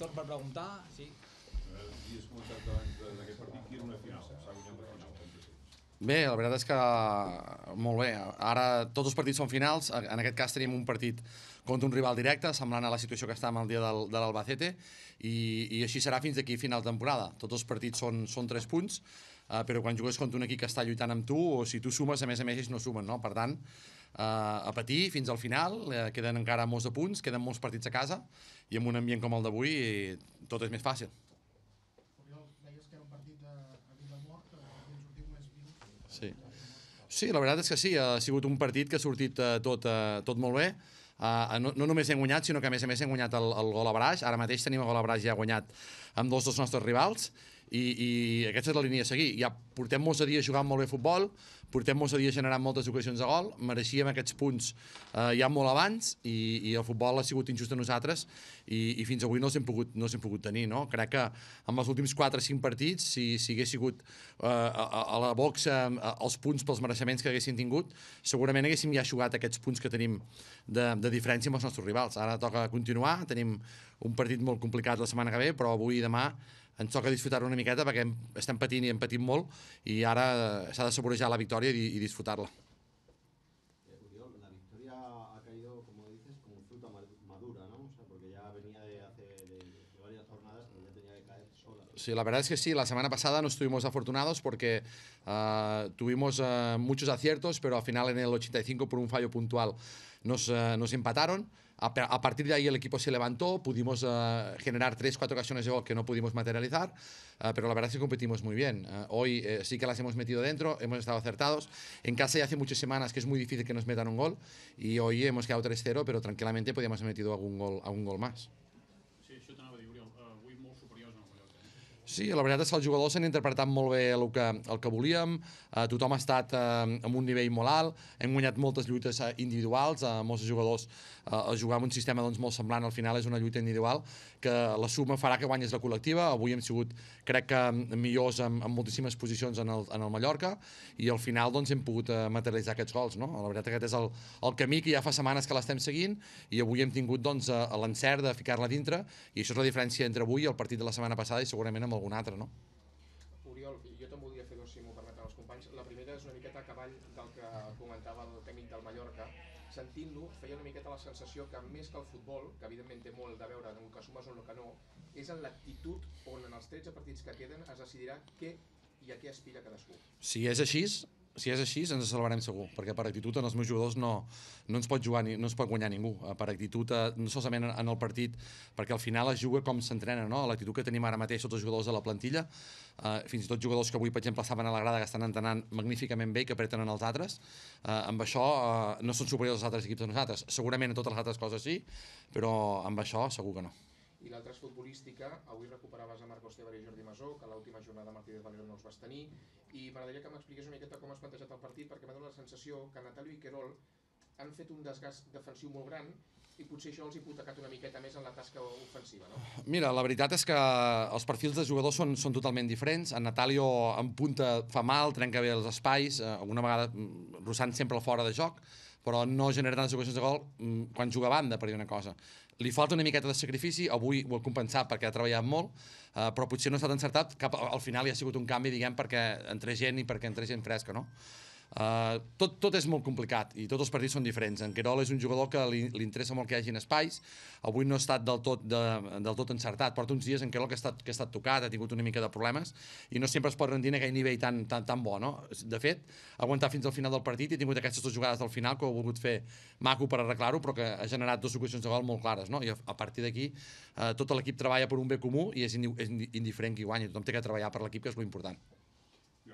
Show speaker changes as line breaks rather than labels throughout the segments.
torn per preguntar, sí.
Havies comentat abans d'aquest partit que era una final, s'ha guanyat la final.
Bé, la veritat és que molt bé. Ara tots els partits són finals. En aquest cas tenim un partit contra un rival directe, semblant a la situació que estàvem el dia de l'Albacete, i així serà fins d'aquí final de temporada. Tots els partits són 3 punts, però quan jugues contra un equip que està lluitant amb tu, o si tu sumes, a més ells no sumen, no? Per tant, a patir fins al final, queden encara molts de punts, queden molts partits a casa, i amb un ambient com el d'avui tot és més fàcil.
Deies que era un partit a vida o mort, i en sortiu més vius.
Sí, la veritat és que sí, ha sigut un partit que ha sortit tot molt bé. No només hem guanyat, sinó que a més hem guanyat el gol a Braix. Ara mateix tenim el gol a Braix ja guanyat amb 2 dels nostres rivals, i aquesta és la línia a seguir. Ja portem molts dies jugant molt bé a futbol, portem molts dies generant moltes ocasions de gol, mereixíem aquests punts ja molt abans, i el futbol ha sigut injust a nosaltres, i fins avui no els hem pogut tenir, no? Crec que amb els últims 4 o 5 partits, si hagués sigut a la boxa els punts pels mereixements que haguessin tingut, segurament haguéssim ja jugat aquests punts que tenim de diferència amb els nostres rivals. Ara toca continuar, tenim un partit molt complicat la setmana que ve, però avui i demà ens toca disfrutar una miqueta perquè estem patint i hem patit molt, i ara s'ha de saborejar la victòria i disfrutar-la.
Oriol, la victoria ha caído, como dices, como fruta madura, ¿no? O sea, porque ya venía de varias jornadas, pero ya tenía que caer sola.
Sí, la verdad es que sí, la semana pasada no estuvimos afortunados porque tuvimos muchos aciertos, pero al final en el 85 por un fallo puntual nos empataron. A partir de ahí el equipo se levantó, pudimos generar 3-4 ocasiones de gol que no pudimos materializar, pero la verdad es que competimos muy bien. Hoy sí que las hemos metido dentro, hemos estado acertados. En casa ya hace muchas semanas que es muy difícil que nos metan un gol, y hoy hemos quedado 3-0, pero tranquilamente podíamos haber metido algún gol más.
Sí, això t'anava a dir, Oriol, avui molt superiors al Mallorca.
Sí, la veritat és que els jugadors s'han interpretat molt bé el que volíem, tothom ha estat amb un nivell molt alt, hem guanyat moltes lluites individuals, molts jugadors jugar en un sistema molt semblant, al final és una lluita individual que la suma farà que guanyis la col·lectiva. Avui hem sigut, crec que, millors en moltíssimes posicions en el Mallorca, i al final hem pogut materialitzar aquests gols, no? La veritat és que aquest és el camí que ja fa setmanes que l'estem seguint, i avui hem tingut l'encert de ficar-la dintre, i això és la diferència entre avui i el partit de la setmana passada i segurament amb algun altre, no?
Oriol, jo te'n voldria fer 2, si m'ho permeten els companys. La primera és una miqueta a cavall del que comentava el tècnic del Mallorca. Sentint-lo, feia una miqueta la sensació que més que el futbol, que evidentment té molt de veure en el que sumes o en el que no, és en l'actitud on en els 13 partits que queden es decidirà què i a què aspira cadascú.
Si és així, ens salvarem segur, perquè per actitud en els meus jugadors no ens pot jugar, no ens pot guanyar ningú. Per actitud, no solament en el partit, perquè al final es juga com s'entrena, no? L'actitud que tenim ara mateix tots els jugadors de la plantilla, fins i tot jugadors que avui, per exemple, estaven a la grada, que estan entrenant magníficament bé i que apreten en els altres, amb això no són superiors als altres equips de nosaltres. Segurament en totes les altres coses sí, però amb això segur que no.
I l'altra és futbolística. Avui recuperaves a Marcos Tebar i Jordi Masó, que a l'última jornada Martínez Valero no els vas tenir, i m'agradaria que m'expliqués una miqueta com has plantejat el partit, perquè m'ha donat la sensació que Natalio i Querol han fet un desgast defensiu molt gran, i potser això els ha hipotecat una miqueta més en la tasca ofensiva, no?
Mira, la veritat és que els perfils de jugadors són totalment diferents. En Natalio en punta fa mal, trenca bé els espais, alguna vegada rossant sempre el fora de joc, però no genera tantes ocasions de gol quan juga a banda, per dir una cosa. Li falta una miqueta de sacrifici, avui ho ha compensat perquè ha treballat molt, però potser no ha estat encertat, al final hi ha sigut un canvi, diguem, perquè entre gent i perquè entre gent fresca, no? Tot és molt complicat i tots els partits són diferents. En Querol és un jugador que li interessa molt que hi hagin espais. Avui no ha estat del tot encertat, porta uns dies en Querol que ha estat tocat, ha tingut una mica de problemes i no sempre es pot rendir en aquell nivell tan bo, no? De fet, ha aguantat fins al final del partit i ha tingut aquestes 2 jugades del final que ho ha volgut fer maco per arreglar-ho, però que ha generat 2 ocasions de gol molt clares, no? I a partir d'aquí tot l'equip treballa per un bé comú i és indiferent qui guanyi, tothom té que treballar per l'equip, que és l'important.
Hi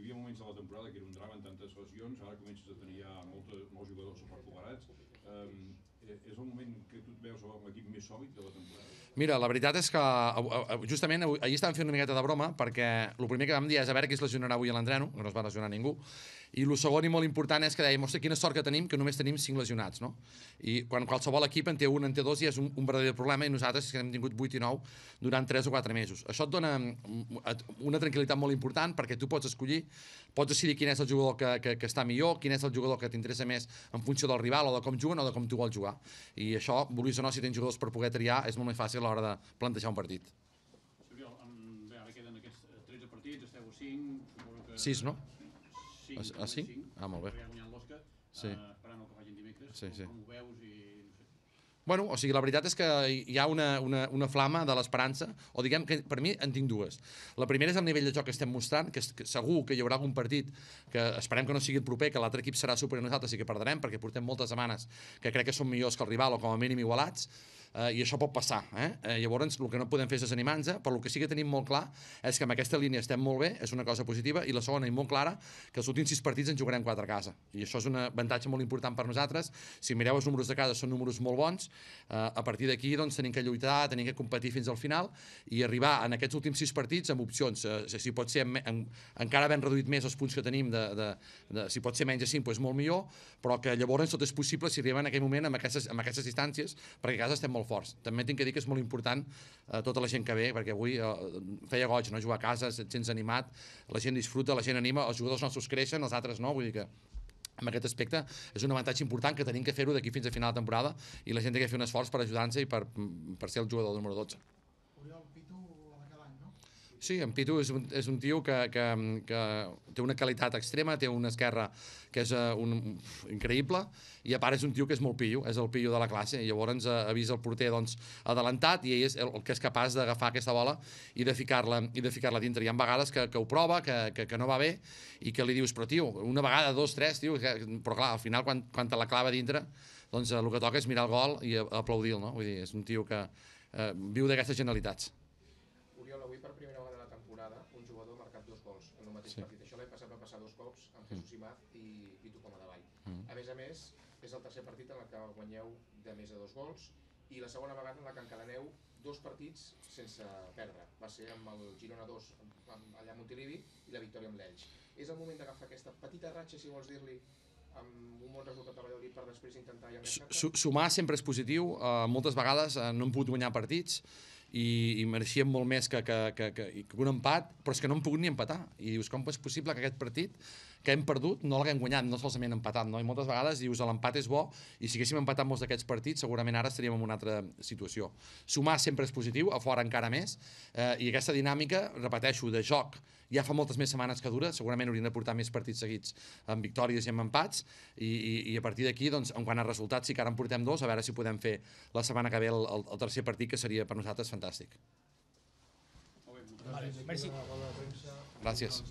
havia moments de la temporada que era un drama en tantes lesions, ara comences a tenir ja molts jugadors superpoderats. És el moment que tu et veus amb l'equip més sòlid de la temporada?
Mira, la veritat és que justament ahir estàvem fent una miqueta de broma, perquè el primer que vam dir és a veure qui es lesionarà avui a l'entreno, que no es va lesionar ningú, i el segon i molt important és que dèiem, hòstia, quina sort que tenim, que només tenim 5 lesionats, no? I quan qualsevol equip en té 1, en té 2, i és un verdader problema, i nosaltres que hem tingut 8 i 9 durant 3 o 4 mesos. Això et dona una tranquil·litat molt important, perquè tu pots escollir, pots decidir quin és el jugador que està millor, quin és el jugador que t'interessa més en funció del rival, o de com juguen, o de com tu vols jugar. i això, vulguis o no, si tens jugadors per poder triar, és molt més fàcil a l'hora de plantejar un partit.
Oriol, bé, ara queden aquests 13 partits, esteu a 5, suposo que...
6, no?
5,
A 5? Ah, molt bé.
Ja guanyant l'Oscar,
Sí.
esperant el que facin dimecres,
Sí, sí.
com ho veus i... no sé.
Bueno, o sigui, la veritat és que hi ha una flama de l'esperança, o diguem que per mi en tinc dues. La primera és el nivell de joc que estem mostrant, que segur que hi haurà algun partit que esperem que no sigui el proper, que l'altre equip serà superior a nosaltres i que perdrem, perquè portem moltes setmanes que crec que són millors que el rival o com a mínim igualats, i això pot passar. Llavors, el que no podem fer és desanimar-nos, però el que sí que tenim molt clar és que amb aquesta línia estem molt bé, és una cosa positiva, i la segona i molt clara, que els últims 6 partits en jugarem 4 a casa. I això és un avantatge molt important per nosaltres. Si mireu els números de casa, són números molt bons. A partir d'aquí doncs, tenim que lluitar, tenim que competir fins al final i arribar en aquests últims 6 partits amb opcions. Si pot ser encara ben reduït més els punts que tenim, si pot ser menys de 5, doncs molt millor, però que llavors tot és possible si arribem en aquell moment amb aquestes distàncies, perquè a casa estem molt forts. També tinc que dir que és molt important tota la gent que ve, perquè avui feia goig, no? Jugar a casa, et sents animat, la gent disfruta, la gent anima, els jugadors nostres creixen, els altres no, vull dir que en aquest aspecte és un avantatge important que tenim que fer-ho d'aquí fins a final de temporada i la gent té que fer un esforç per ajudar-nos i per ser el jugador número 12.
Oriol, Pitu, la de cada any, no?
Sí, en Pitu és un tio que té una qualitat extrema, té una esquerra que és increïble, i a part és un tio que és molt pillo, és el pillo de la classe, i llavors avisa el porter adelantat, i ell és el que és capaç d'agafar aquesta bola i de ficar-la dintre. Hi ha vegades que ho prova, que no va bé, i que li dius, però tio, una vegada, 2, 3, tio, però clar, al final quan te la clava dintre, doncs el que toca és mirar el gol i aplaudir-lo, no? Vull dir, és un tio que viu d'aquestes genialitats.
Oriol, avui per primera vegada de la temporada un jugador ha marcat 2 gols en un mateix partit. Això l'any passat va passar 2 cops amb Jesús Imaz i Pitu com a davall. A més, és el tercer partit en el que guanyeu de més de 2 gols i la segona vegada en la que encadeneu 2 partits sense perdre. Va ser amb el Girona 2 allà a Montilivi i la victòria amb l'Elx. És el moment d'agafar aquesta petita ratxa, si vols dir-li, amb un bon resultat a Valladolid per després intentar ja més cerca?
Sumar sempre és positiu. Moltes vegades no hem pogut guanyar partits i mereixíem molt més que un empat, però és que no hem pogut ni empatar. I dius, com és possible que aquest partit que hem perdut no l'haguem guanyat, no solament empatat, no? I moltes vegades dius, l'empat és bo, i si haguéssim empatat molts d'aquests partits, segurament ara estaríem en una altra situació. Sumar sempre és positiu, a fora encara més, i aquesta dinàmica, repeteixo, de joc, ja fa moltes més setmanes que dura, segurament hauríem de portar més partits seguits amb victòries i amb empats, i a partir d'aquí, doncs, en quant a resultats, sí que ara en portem 2, a veure si podem fer la setmana que ve el tercer partit, que seria per nosaltres fantàstic.
Molt bé, moltes gràcies.
Merci.
Gràcies.